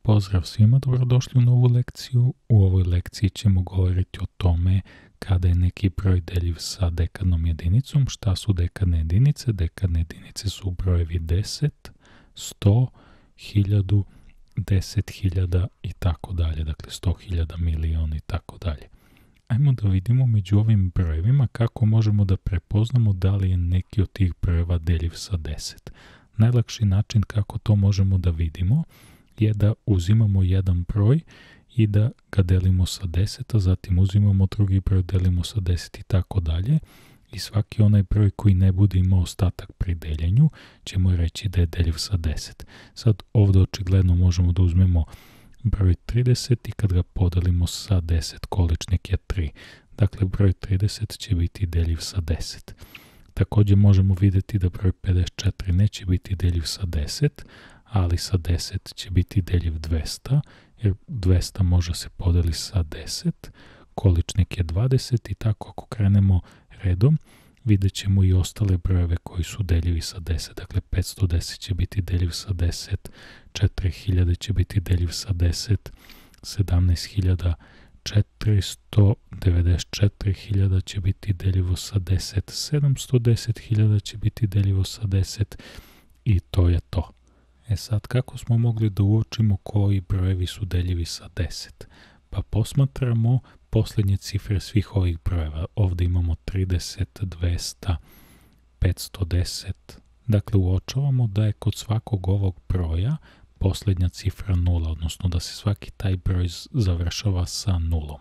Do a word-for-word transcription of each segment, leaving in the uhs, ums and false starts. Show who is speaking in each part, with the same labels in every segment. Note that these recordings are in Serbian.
Speaker 1: Pozdrav svima, dobrodošli u novu lekciju. U ovoj lekciji ćemo govoriti o tome kada je neki broj deljiv sa dekadnom jedinicom. Šta su dekadne jedinice? Dekadne jedinice su brojevi deset, sto, hiljadu, deset hiljada i tako dalje. Dakle, sto hiljada, milion i tako dalje. Ajmo da vidimo među ovim brojevima kako možemo da prepoznamo da li je neki od tih brojeva deljiv sa deset. Najlakši način kako to možemo da vidimo je da uzimamo jedan broj i da ga delimo sa deset, a zatim uzimamo drugi broj, delimo sa deset i tako dalje. I svaki onaj broj koji ne bude imao ostatak pri deljenju ćemo reći da je deljiv sa deset. Sad ovdje očigledno možemo da uzmemo broj trideset i kad ga podelimo sa deset, količnik je tri. Dakle, broj trideset će biti deljiv sa deset. Također možemo vidjeti da broj pedeset četiri neće biti deljiv sa deset, ali sa deset će biti deljiv dvesta, jer dvesta može se podeli sa deset, količnik je dvadeset i tako ako krenemo redom, vidjet ćemo i ostale brojeve koji su deljivi sa deset. Dakle, petsto deset će biti deljiv sa deset, četiri hiljade će biti deljiv sa deset, sedamnaest hiljada četiristo devedeset četiri hiljada će biti deljivo sa deset, sedamsto deset hiljada će biti deljivo sa deset i to je to. E sad, kako smo mogli da uočimo koji brojevi su deljivi sa deset? Pa posmatramo posljednje cifre svih ovih brojeva. Ovdje imamo trideset, dvesta, petsto deset. Dakle, uočavamo da je kod svakog ovog broja posljednja cifra nula, odnosno da se svaki taj broj završava sa nulom.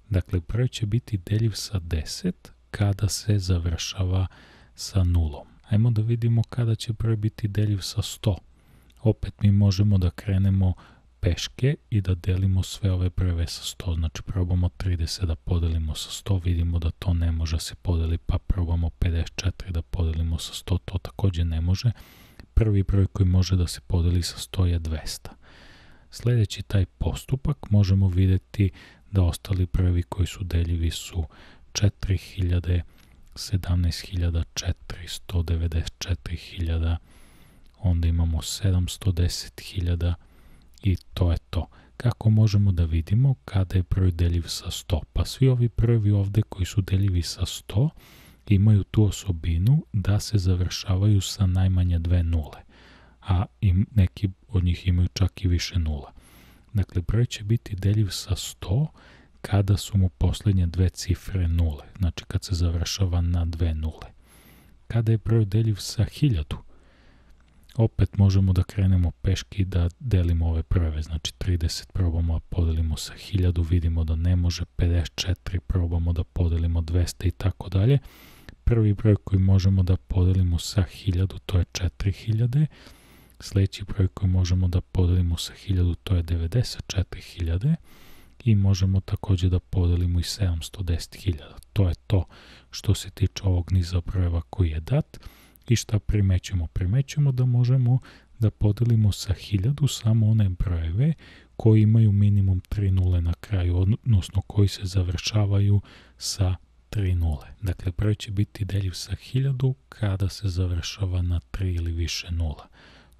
Speaker 1: Dakle, broj će biti deljiv sa deset kada se završava sa nulom. Ajmo da vidimo kada će broj biti deljiv sa sto. Opet mi možemo da krenemo peške i da delimo sve ove brojeve sa sto. Znači probamo trideset da podelimo sa sto, vidimo da to ne može se podeli, pa probamo pedeset četiri da podelimo sa sto, to također ne može. Prvi broj koji može da se podeli sa sto je dvesta. Sljedeći taj postupak možemo vidjeti da ostali brojevi koji su deljivi su četiri hiljade, sedamnaest hiljada četiristo devedeset četiri hiljada, onda imamo sedamsto deset hiljada i to je to. Kako možemo da vidimo kada je broj deljiv sa sto? Pa svi ovi brojevi ovdje koji su deljivi sa sto imaju tu osobinu da se završavaju sa najmanje dve nule, a im, neki od njih imaju čak i više nula. Dakle, broj će biti deljiv sa sto kada su mu posljednje dve cifre nule, znači kad se završava na dve nule. Kada je broj deljiv sa hiljadu? Opet možemo da krenemo peški da delimo ove brojeve, znači trideset probamo da podelimo sa hiljadu, vidimo da ne može, pedeset četiri probamo da podelimo dvesta i tako dalje. Prvi broj koji možemo da podelimo sa hiljadu to je četiri hiljade, sljedeći broj koji možemo da podelimo sa hiljadu to je devedeset četiri hiljade i možemo također da podelimo i sedamsto deset hiljada. To je to što se tiče ovog niza brojeva koji je dat. I šta primećujemo? Primećujemo da možemo da podelimo sa hiljadu samo one brojeve koji imaju minimum tri nule na kraju, odnosno koji se završavaju sa tri nule. Dakle, broj će biti deljiv sa hiljadu kada se završava na tri ili više nula.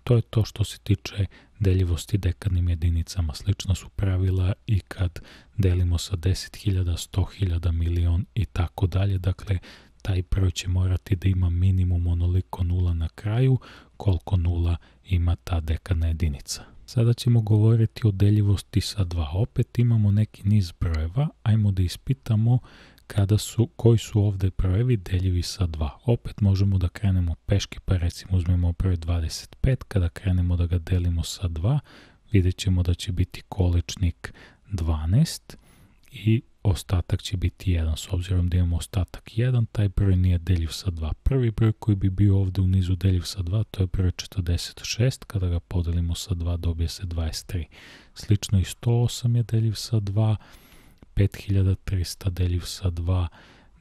Speaker 1: To je to što se tiče deljivosti dekadnim jedinicama. Slična su pravila i kad delimo sa deset hiljada, sto hiljada, milion i tako dalje. Dakle, taj broj će morati da ima minimum onoliko nula na kraju koliko nula ima ta dekadna jedinica. Sada ćemo govoriti o deljivosti sa dva. Opet imamo neki niz brojeva, ajmo da ispitamo kada su, koji su ovdje brojevi deljivi sa dva. Opet možemo da krenemo peške, pa recimo uzmemo broj dvadeset pet, kada krenemo da ga delimo sa dva, vidjet ćemo da će biti količnik dvanaest i ostatak će biti jedan. S obzirom da imamo ostatak jedan, taj broj nije deljiv sa dva. Prvi broj koji bi bio ovdje u nizu deljiv sa dva, to je broj četrdeset šest, kada ga podelimo sa dva dobije se dvadeset tri. Slično i sto osam je deljiv sa dva, pet hiljada trista deljiv sa dva,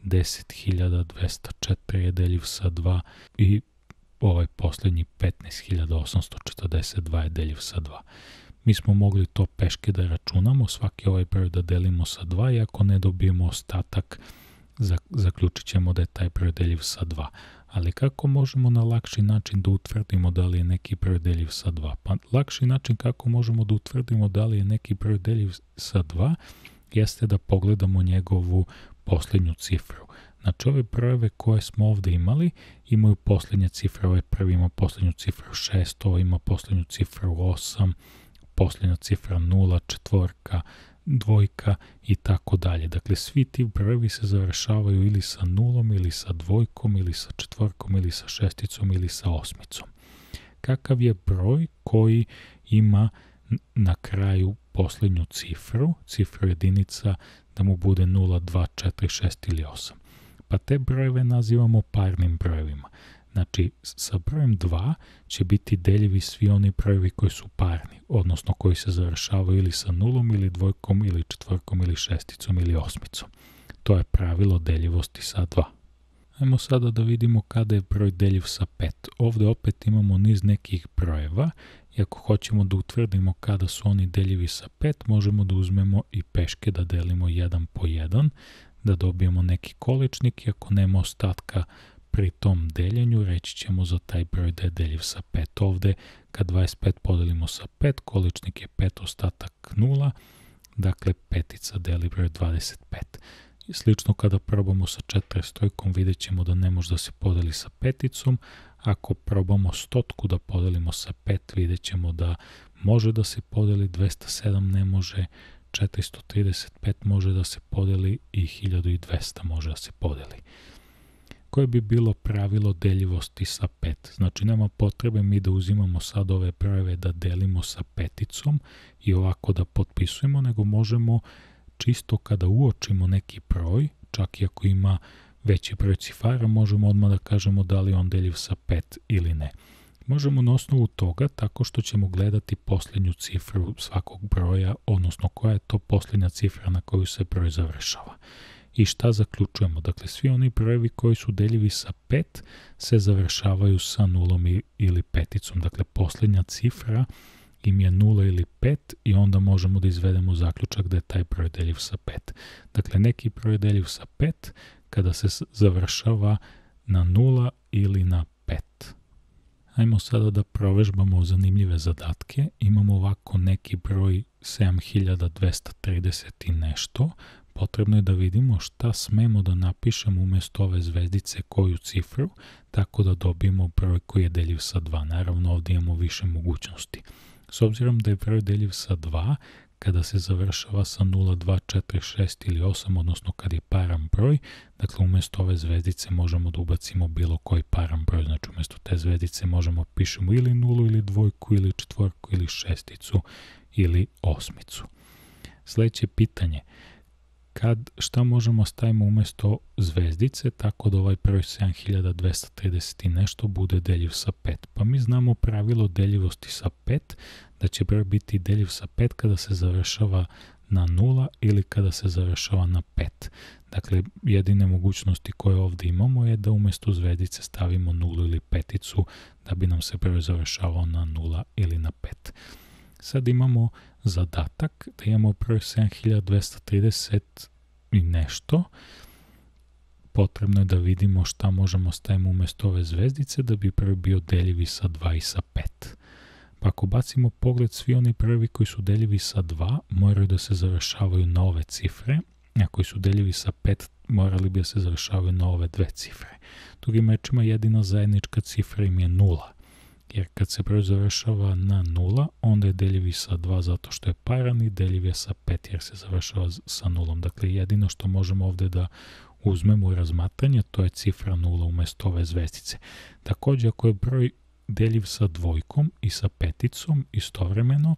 Speaker 1: deset hiljada dvesta četiri je deljiv sa dva i ovaj posljednji petnaest hiljada osamsto četrdeset dva je deljiv sa dva. Mi smo mogli to peške da računamo, svaki ovaj broj da delimo sa dva i ako ne dobijemo ostatak, zaključit ćemo da je taj broj deljiv sa dva. Ali kako možemo na lakši način da utvrdimo da li je neki broj deljiv sa dva? Pa lakši način kako možemo da utvrdimo da li je neki broj deljiv sa dva jeste da pogledamo njegovu posljednju cifru. Znači ove brojeve koje smo ovdje imali imaju posljednje cifre, ovaj prvi ima posljednju cifru šest, ovo ima posljednju cifru osam, posljednja cifra nula, četvorka, dvojka i tako dalje. Dakle, svi ti brojevi se završavaju ili sa nulom, ili sa dvojkom, ili sa četvorkom, ili sa šesticom, ili sa osmicom. Kakav je broj koji ima na kraju posljednju cifru, cifru jedinica, da mu bude nula, dva, četiri, šest ili osam? Pa te brojeve nazivamo parnim brojevima. Znači, sa brojem dva će biti deljivi svi oni brojevi koji su parni, odnosno koji se završavaju ili sa nulom, ili dvojkom, ili četvorkom, ili šesticom, ili osmicom. To je pravilo deljivosti sa dva. Ajmo sada da vidimo kada je broj deljiv sa pet. Ovdje opet imamo niz nekih brojeva i ako hoćemo da utvrdimo kada su oni deljivi sa pet, možemo da uzmemo i peške da delimo jedan po jedan, da dobijemo neki količnik i ako nema ostatka pri tom deljenju, reći ćemo za taj broj da je deljiv sa pet. Ovdje, kad dvadeset pet podelimo sa pet, količnik je pet, ostatak nula, dakle petica deli broj dvadeset pet. I slično kada probamo sa četiristostojkom, vidjet ćemo da ne može da se podeli sa peticom. Ako probamo stotku da podelimo sa pet, vidjet ćemo da može da se podeli, dvesta sedam ne može, četiristo trideset pet može da se podeli i hiljadu dvesta može da se podeli. Koje bi bilo pravilo deljivosti sa pet? Znači, nema potrebe mi da uzimamo sad ove brojeve da delimo sa peticom i ovako da potpisujemo, nego možemo čisto kada uočimo neki broj, čak i ako ima veći broj cifara, možemo odmah da kažemo da li je on deljiv sa pet ili ne. Možemo na osnovu toga tako što ćemo gledati posljednju cifru svakog broja, odnosno koja je to posljednja cifra na koju se broj završava. I šta zaključujemo? Dakle, svi oni brojevi koji su deljivi sa pet se završavaju sa nulom ili peticom. Dakle, posljednja cifra im je nula ili pet i onda možemo da izvedemo zaključak da je taj broj deljiv sa pet. Dakle, neki broj je deljiv sa pet kada se završava na nula ili na pet. Ajmo sada da provežbamo zanimljive zadatke. Imamo ovako neki broj sedam hiljada dvesta trideset i nešto. Potrebno je da vidimo šta smemo da napišemo umjesto ove zvezdice koju cifru, tako da dobijemo broj koji je deljiv sa dva. Naravno, ovdje imamo više mogućnosti. S obzirom da je broj deljiv sa dva, kada se završava sa nula, dva, četiri, šest ili osam, odnosno kad je paran broj, dakle umjesto ove zvezdice možemo da ubacimo bilo koji paran broj. Znači umjesto te zvezdice možemo pišemo ili nulu, ili dvojku, ili četvorku, ili šesticu, ili osmicu. Sljedeće pitanje. Kad, šta možemo stavimo umjesto zvezdice, tako da ovaj broj sedam hiljada dvesta trideset i nešto bude deljiv sa pet? Pa mi znamo pravilo deljivosti sa pet, da će broj biti deljiv sa pet kada se završava na nula ili kada se završava na pet. Dakle, jedine mogućnosti koje ovdje imamo je da umjesto zvezdice stavimo nulu ili peticu, da bi nam se broj završavao na nula ili na pet. Sad imamo zadatak da imamo broj sedam hiljada dvesta trideset i nešto. Potrebno je da vidimo šta možemo staviti umjesto ove zvezdice da bi broj bio deljivi sa dva i sa pet. Pa ako bacimo pogled, svi oni brojevi koji su deljivi sa dva moraju da se završavaju na ove cifre, a koji su deljivi sa pet morali bi da se završavaju na ove dve cifre. Drugim rečima, jedina zajednička cifra im je nula. Jer kad se broj završava na nula, onda je deljiv i sa dva zato što je paran i deljiv je sa pet jer se završava sa nulom. Dakle, jedino što možemo ovdje da uzmemo u razmatranje, to je cifra nula umjesto ove zvezdice. Također, ako je broj deljiv sa dvojkom i sa peticom istovremeno,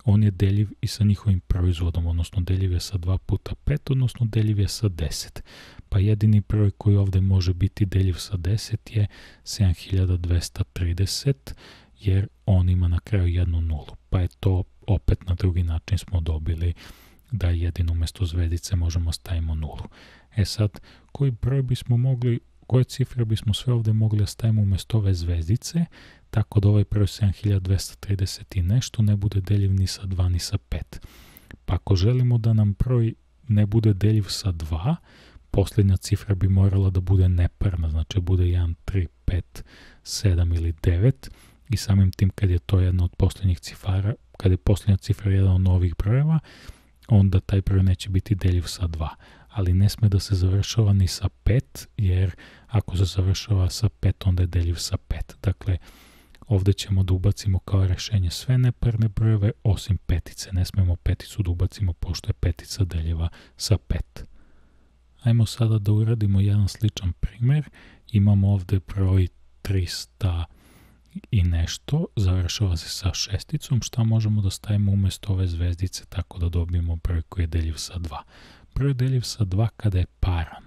Speaker 1: on je deljiv i sa njihovim proizvodom, odnosno deljiv je sa dva puta pet, odnosno deljiv je sa deset. Pa jedini broj koji ovdje može biti deljiv sa deset je sedam hiljada dvesta trideset, jer on ima na kraju jednu nulu. Pa je to opet na drugi način smo dobili da jedino umjesto zvezdice možemo stavimo nulu. E sad, koji broj bismo mogli, koje cifre bismo sve ovdje mogli da stavimo umjesto ove zvezdice, tako da ovaj broj sedam hiljada dvesta trideset i nešto ne bude deljiv ni sa dva ni sa pet. Pa ako želimo da nam broj ne bude deljiv sa dva, posljednja cifra bi morala da bude neparna, znači bude jedan, tri, pet, sedam ili devet i samim tim kad je to jedna od posljednjih cifara, kad je posljednja cifra jedan od novih brojeva, onda taj broj neće biti deljiv sa dva. Ali ne sme da se završava ni sa pet, jer ako se završava sa pet, onda je deljiv sa pet. Dakle, ovdje ćemo da ubacimo kao rješenje sve neparne brojeve osim petice. Ne smemo peticu da ubacimo pošto je petica deljiva sa pet. Ajmo sada da uradimo jedan sličan primjer. Imamo ovdje broj trista i nešto, završava se sa šesticom. Šta možemo da stavimo umjesto ove zvezdice tako da dobijemo broj koji je deljiv sa dva? Broj je deljiv sa dva kada je paran.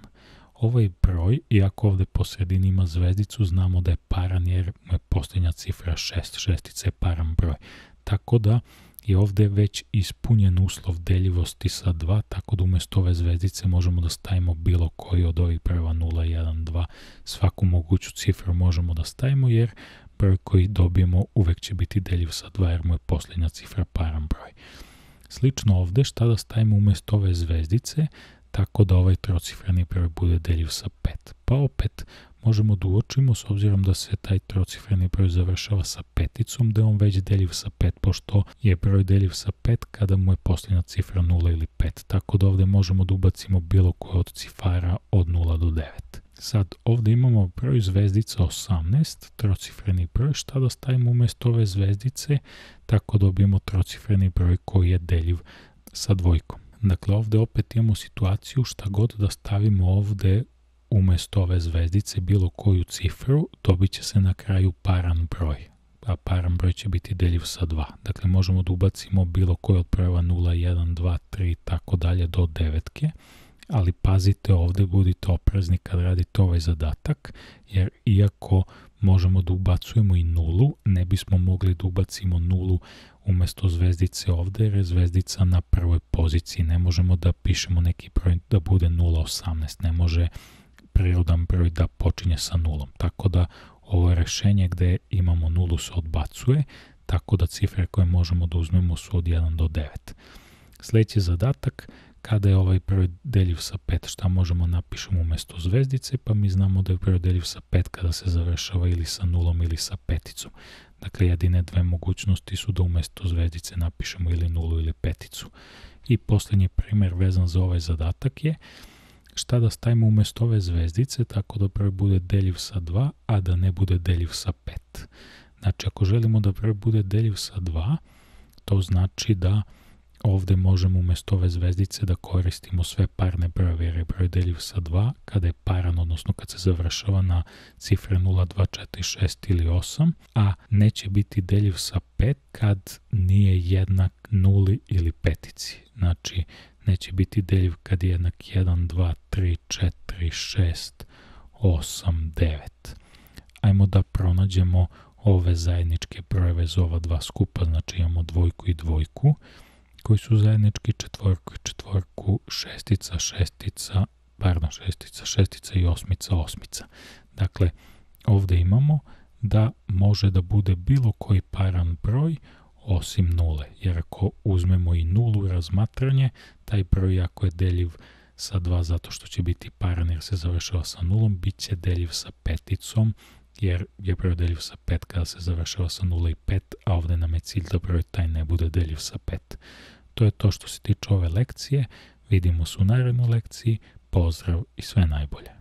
Speaker 1: Ovaj broj, iako ovdje po sredini ima zvezdicu, znamo da je paran jer mu je posljednja cifra šest. Šestica je paran broj. Tako da je ovdje već ispunjen uslov deljivosti sa dva, tako da umjesto ove zvezdice možemo da stavimo bilo koji od ovih brojeva nula, jedan, dva. Svaku moguću cifru možemo da stavimo jer broj koji dobijemo uvek će biti deljiv sa dva jer mu je posljednja cifra paran broj. Slično ovdje, šta da stavimo umjesto ove zvezdice, tako da ovaj trocifreni broj bude deljiv sa pet. Pa opet možemo da uočimo, s obzirom da se taj trocifreni broj završava sa peticom, da je on već deljiv sa pet, pošto je broj deljiv sa pet kada mu je posljednja cifra nula ili pet. Tako da ovdje možemo da ubacimo bilo koje od cifara od nula do devet. Sad, ovdje imamo broj zvezdica osamnaest, trocifreni broj, šta da stavimo umjesto ove zvezdice, tako dobijemo trocifreni broj koji je deljiv sa dvojkom. Dakle, ovdje opet imamo situaciju šta god da stavimo ovdje umjesto ove zvezdice bilo koju cifru, dobit će se na kraju paran broj. A paran broj će biti deljiv sa dva. Dakle, možemo da ubacimo bilo koji od brojeva nula, jedan, dva, tri, tako dalje do devetke. Ali pazite ovdje, budite oprezni kad radite ovaj zadatak, jer iako možemo da ubacujemo i nulu, ne bismo mogli da ubacimo nulu umjesto zvezdice ovdje, jer je zvezdica na prvoj poziciji. Ne možemo da pišemo neki broj da bude nula osamnaest, ne može prirodan broj da počinje sa nulom. Tako da ovo rješenje gdje imamo nulu se odbacuje, tako da cifre koje možemo da uzmemo su od jedan do devet. Sljedeći zadatak, kada je ovaj broj deljiv sa pet, šta možemo napišemo umjesto zvezdice, pa mi znamo da je broj deljiv sa pet kada se završava ili sa nulom ili sa peticom. Dakle, jedine dve mogućnosti su da umjesto zvezdice napišemo ili nulu ili peticu. I posljednji primjer vezan za ovaj zadatak je šta da stavimo umjesto ove zvezdice tako da broj bude deljiv sa dva, a da ne bude deljiv sa pet. Znači, ako želimo da broj bude deljiv sa dva, to znači da ovdje možemo umjesto ove zvezdice da koristimo sve parne brojeve jer je broj deljiv sa dva kada je paran, odnosno kad se završava na cifre nula, dva, četiri, šest ili osam, a neće biti deljiv sa pet kad nije jednak nuli ili petici. Znači, neće biti deljiv kad je jednak jedan, dva, tri, četiri, šest, osam, devet. Ajmo da pronađemo ove zajedničke brojeve za ova dva skupa, znači imamo dvojku i dvojku, koji su zajednički, četvorku i četvorku, šestica, šestica, pardon, šestica, šestica i osmica, osmica. Dakle, ovdje imamo da može da bude bilo koji paran broj osim nule, jer ako uzmemo i nulu u razmatranje, taj broj ako je deljiv sa dva zato što će biti paran jer se završava sa nulom, bit će deljiv sa peticom, jer je broj deljiv sa pet kada se završava sa nula i pet, a ovdje nam je cilj da broj taj ne bude deljiv sa pet. To je to što se tiče ove lekcije. Vidimo se u narednoj lekciji. Pozdrav i sve najbolje.